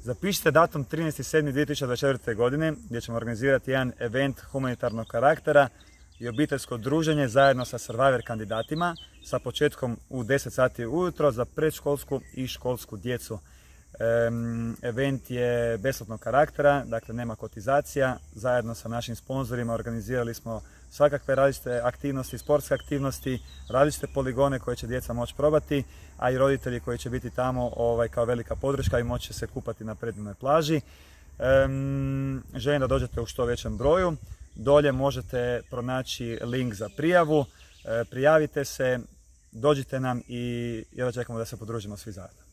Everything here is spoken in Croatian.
Zapišite datum 13.7.2024. godine gdje ćemo organizirati jedan event humanitarnog karaktera i obiteljsko druženje zajedno sa Survivor kandidatima sa početkom u 10 sati ujutro za predškolsku i školsku djecu. Event je besplatnog karaktera, dakle nema kotizacija. Zajedno sa našim sponzorima organizirali smo svakakve različite aktivnosti, sportske aktivnosti, različite poligone koje će djeca moći probati, a i roditelji koji će biti tamo kao velika podrška i moći se kupati na predivnoj plaži. Želim da dođete u što većem broju. Dolje možete pronaći link za prijavu. Prijavite se, dođite nam i jedva čekamo da se podružimo svi zajedno.